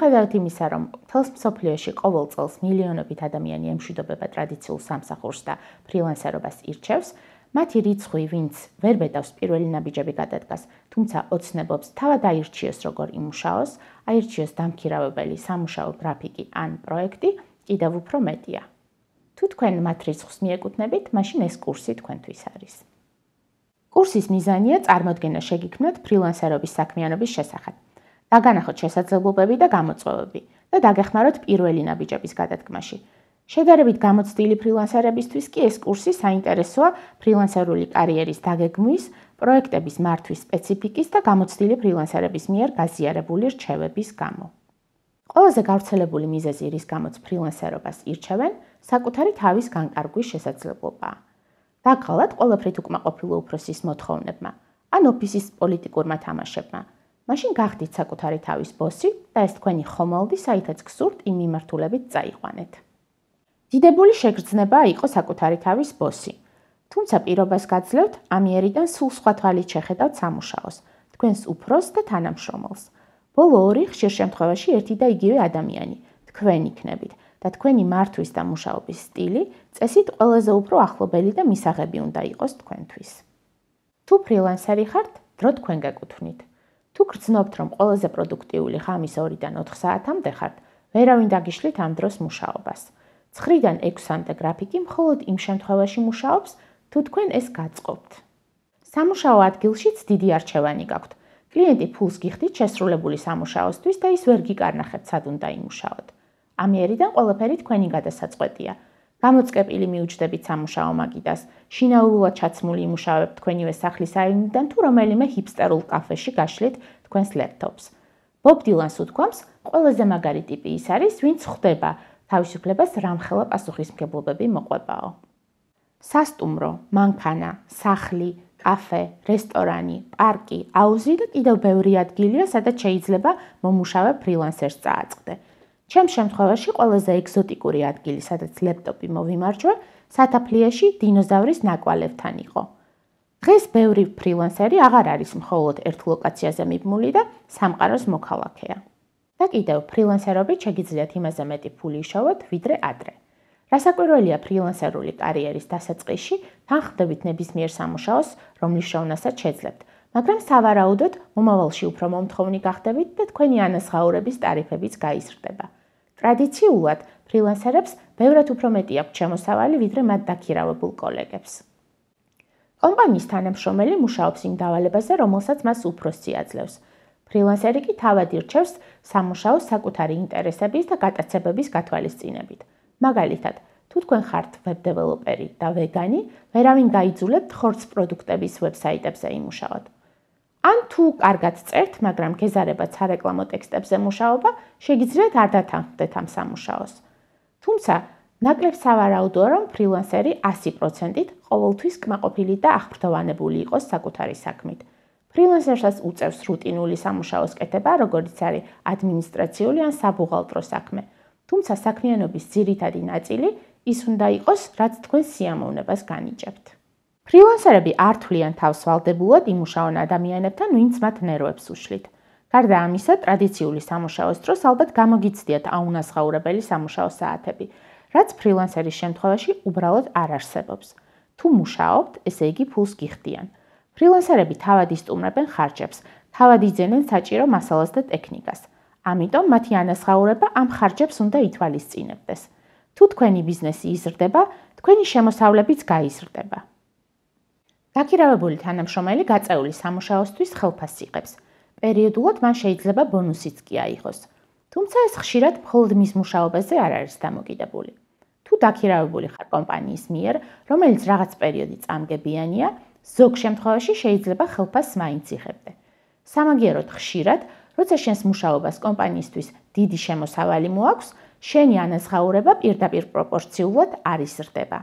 მიუხედავად იმისა, რომ მთელს მსოფლიოში ყოველ წელს მილიონობით ადამიანი ემშვიდობება ტრადიციულ სამსახურს და ფრილანსერობას ირჩევს, მათი რიცხვი, ვინც ვერ ბედავს პირველი ნაბიჯები გადადგას, თუმცა ოცნებობს თავად აირჩიოს როგორ იმუშაოს, აირჩიოს დამქირავებელი სამუშაო გრაფიკი ან პროექტი, კიდევ უფრო მეტია. თუ თქვენ მათ რიცხვს მიეკუთვნებით, მაშინ ეს კურსი თქვენთვის არის. კურსის მიზანია წარმოდგენა შეგიქმნათ ფრილანსერობის საქმიანობის შესახებ. დაგანახოთ შესაძლებლობები და გამოწვევები და დაგეხმაროთ პირველი ნაბიჯების გადადგმაში. შედარებით გამოცდილი ფრილანსერებისთვის კი ეს კურსი საინტერესოა ფრილანსერული კარიერის დაგეგმვის, პროექტების მართვის სპეციფიკის და გამოცდილი ფრილანსერების მიერ გაზიარებული რჩევების გამო. ყველაზე გავრცელებული მიზეზი, რის გამოც ფრილანსერობას ირჩევენ, საკუთარი თავის განკარგვის შესაძლებლობაა. დაგხალათ ყველაფრით უკმაყოფილო უფროსის მოთხოვნებმა ან ოფისის პოლიტიკურმა თამაშებმა. მაშინ გახდით საკუთარი თავის ბოსი და ეს თქვენი ხომალდი, საითაც გსურთ იმ მიმართულებით წაიყვანეთ. დიდებული შეგრძნებაა იყოს საკუთარი თავის ბოსი. თუმცა პირობას გაძლევთ ამიერიდან სულ სხვა თვალით შეხედავთ სამუშაოს, თქვენს უფროსს და თანამშრომელს. ბოლო ორი ხშირ შემთხვევაში ერთი და იგივე ადამიანი, თქვენ იქნებით და თქვენი მართვის და მუშაობის სტილი წესით ყველაზე უფრო ახლობელი და მისაღები უნდა იყოს თქვენთვის. თუ ფრილანსერი ხართ, დრო თქვენ გეკუთვნით. თუ გრძნობთ, რომ ყველაზე პროდუქტიული ღამის 2-დან 4 საათამდე ხართ, ვერავინ დაგიშლით ამ დროს მუშაობას. 9-დან 6-მდე გრაფიკი მხოლოდ იმ შემთხვევაში მუშაობს, თუ თქვენ ეს გაწყობთ. სამუშაო ადგილშიც დიდი არჩევანი გაქვთ. კლიენტი ფულს გიხდით შესრულებული სამუშაოსთვის და ის ვერ გიკარნახებთ, სად უნდა იმუშაოთ. ამიერიდან ყველაფერი თქვენი გადასაწყვეტია. გამოწყებილი მიუჯდებით სამუშაო მაგიდას, შინაურულად ჩაცმული იმუშავებთ თქვენივე სახლის აივნიდან თუ რომელიმე ჰიპსტერულ კაფეში გაშლით თქვენს ლეპტოპს. ბობ დილანს უთქვამს, ყველაზე მაგარი ტიპი ის არის, ვინც ხვდება თავისუფლებას რამხელა პასუხისმგებლობები მოყვებაო. სასტუმრო, მანქანა, სახლი, კაფე, რესტორანი, პარკი, აუზი და კიდევ ბევრი ადგილია, სადაც შეიძლება მომუშავე ფრილანსერს წააწყდე. ჩემს შემთხვევაში ყველაზე ეგზოტიკური ადგილი, სადაც ლეპტოპი მოვიმარჯვე, სათაფლიაში დინოზავრის ნაკვალევთან იყო. დღეს ბევრი ფრილანსერი აღარ არის მხოლოდ ერთ ლოკაციაზე მიბმული და სამყაროს მოქალაქეა. და კიდევ ფრილანსერობით შეგიძლიათ იმაზე მეტი ფული იშოვოთ, ვიდრე ადრე. რასაკვირველია ფრილანსერული კარიერის დასაწყისში თან ხდებით ნებისმიერ სამუშაოს, რომლის შევნასაც შეძლებთ, მაგრამ სავარაუდოდ მომავალში უფრო მომთხოვნი გახდებით და თქვენი ანაზღაურების ტარიფებიც გაიზრდება. ტრადიციულად ფრილანსერებს ბევრად უფრო მეტი აქვთ შემოსავალი, ვიდრე მათ დაქირავებულ კოლეგებს. კომპანიის თანამშრომელი მუშაობს იმ დავალებაზე, რომელსაც მას უფროსი აძლევს. ფრილანსერი კი თავად ირჩევს სამუშაოს საკუთარი ინტერესების და გატაცებების გათვალისწინებით. მაგალითად, თუ თქვენ ხართ ვებ-დეველოპერი და ვეგანი, ვერავინ გაიძულებთ ხორცს პროდუქტების ვებსაიტებზე იმუშაოთ. ან თუ კარგად წერთ, მაგრამ გეზარებათ სარეკლამო ტექსტებზე მუშაობა, შეგიძლიათ არ დათანხმდეთ ამ სამუშაოს. თუმცა, ნაკლებ სავარაუდოა, რომ ფრილანსერი 100%-ით ყოველთვის კმაყოფილი და აღფრთოვანებული იყოს საკუთარი საქმით. ფრილანსერსაც უწევს რუტინული სამუშაოს კეთება, როგორც არის ადმინისტრაციული ან საბუღალტრო საქმე. თუმცა საქმიანობის ძირითადი ნაწილი ის უნდა იყოს, რაც თქვენ სიამოვნებას განიჭებთ. ფრილანსერები არ თვლიან თავს ვალდებულად იმუშაონ ადამიანებთან, ვინც მათ ნერვებს უშლით. გარდა ამისა, ტრადიციული სამუშაოს დროს ალბათ გამოგიცდიათ აუნაზღაურებელი სამუშაო საათები, რაც ფრილანსერის შემთხვევაში უბრალოდ არ არსებობს. თუ მუშაობთ, ესე იგი ფულს გიხდიან. ფრილანსერები თავად ისტუმრებენ ხარჯებს, თავად იძენენ საჭირო მასალას და ტექნიკას. ამიტომ მათი ანაზღაურება ამ ხარჯებს უნდა ითვალისწინებდეს. თუ თქვენი ბიზნესი იზრდება, თქვენი შემოსავლებიც გაიზრდება. დაქირავებული თანამშრომელი გაწეული სამუშაოსთვის ხელფასს იღებს. პერიოდულად მან შეიძლება ბონუსიც კი აიღოს. თუმცა ეს ხშირად მხოლოდ მის მუშაობაზე არ არის დამოკიდებული. თუ დაქირავებული ხარ კომპანიის მიერ, რომელიც რაღაც პერიოდი წამგებიანია, ზოგ შემთხვევაში შეიძლება ხელფასს მაინც იღებდე. სამაგიეროდ ხშირად, როცა შენს მუშაობას კომპანიისთვის დიდი შემოსავალი მოაქვს, შენი ანაზღაურება პირდაპირ პროპორციულად არ იზრდება.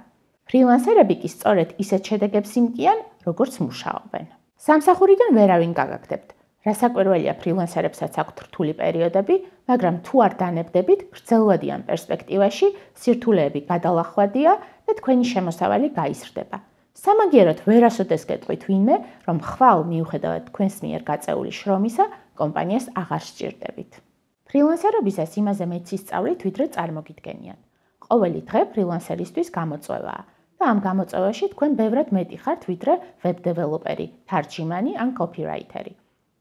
ფრილანსერები კი სწორედ ისეთ შედეგებს იმკიან, როგორც მუშაობენ. სამსახურიდან ვერავინ გაგაგდებთ. რასაკვირველია ფრილანსერებსაც აქვთ რთული პერიოდები, მაგრამ თუ არ დანებდებით, გრძელვადიან პერსპექტივაში სირთულეები გადალახვადია და თქვენი შემოსავალი გაიზრდება. სამაგიეროდ ვერასოდეს გეტყვით ვინმე, რომ ხვალ მიუხედავად თქვენს მიერ გაწეული შრომისა, კომპანიას აღარ სჭირდებით. ფრილანსერობისას იმაზე მეც ისწავლით, ვიდრე წარმოგიდგენიათ. ყოველი დღე ფრილანსერისთვის გამოწვევაა და ამ გამოწვევაში თქვენ ბევრად მეტი ხართ, ვიდრე ვებ დეველოპერი, თარჯიმანი ან კოპირაიტერი.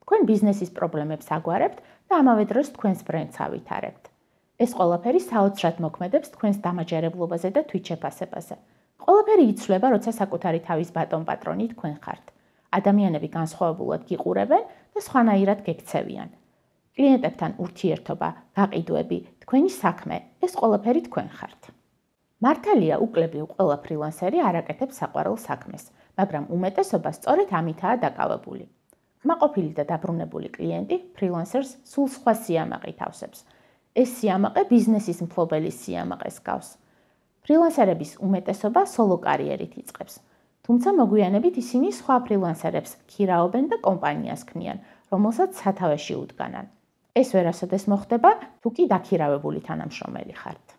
თქვენ ბიზნესის პრობლემებს აგვარებთ და ამავე დროს თქვენს ბრენდს ავითარებთ. ეს ყველაფერი საოცრად მოქმედებს თქვენს დამაჯერებლობაზე და თვით შეფასებაზე. ყველაფერი იცვლება, როცა საკუთარი თავის ბატონ-პატრონი თქვენ ხართ. ადამიანები განსხვავებულად გიყურებენ და სხვანაირად გექცევიან. კლიენტებთან ურთიერთობა, გაყიდვები, თქვენი საქმე, ეს ყველაფერი თქვენ ხართ. მართალია, უკლებრივ ყველა ფრილანსერი არ აკეთებს საყვარელ საქმეს, მაგრამ უმეტესობა სწორედ ამითაა დაკავებული. კმაყოფილი და დაბრუნებული კლიენტი ფრილანსერს სულ სხვა სიამაყით ავსებს. ეს სიამაყე ბიზნესის მფლობელის სიამაყეს გავს. ფრილანსერების უმეტესობა სოლო კარიერით იწყებს. თუმცა მოგვიანებით ისინი სხვა ფრილანსერებს ქირაობენ და კომპანიას ქმნიან, რომელსაც სათავეში უდგანან. ეს ვერასოდეს მოხდება, თუ კი დაქირავებული თანამშრომელი ხართ.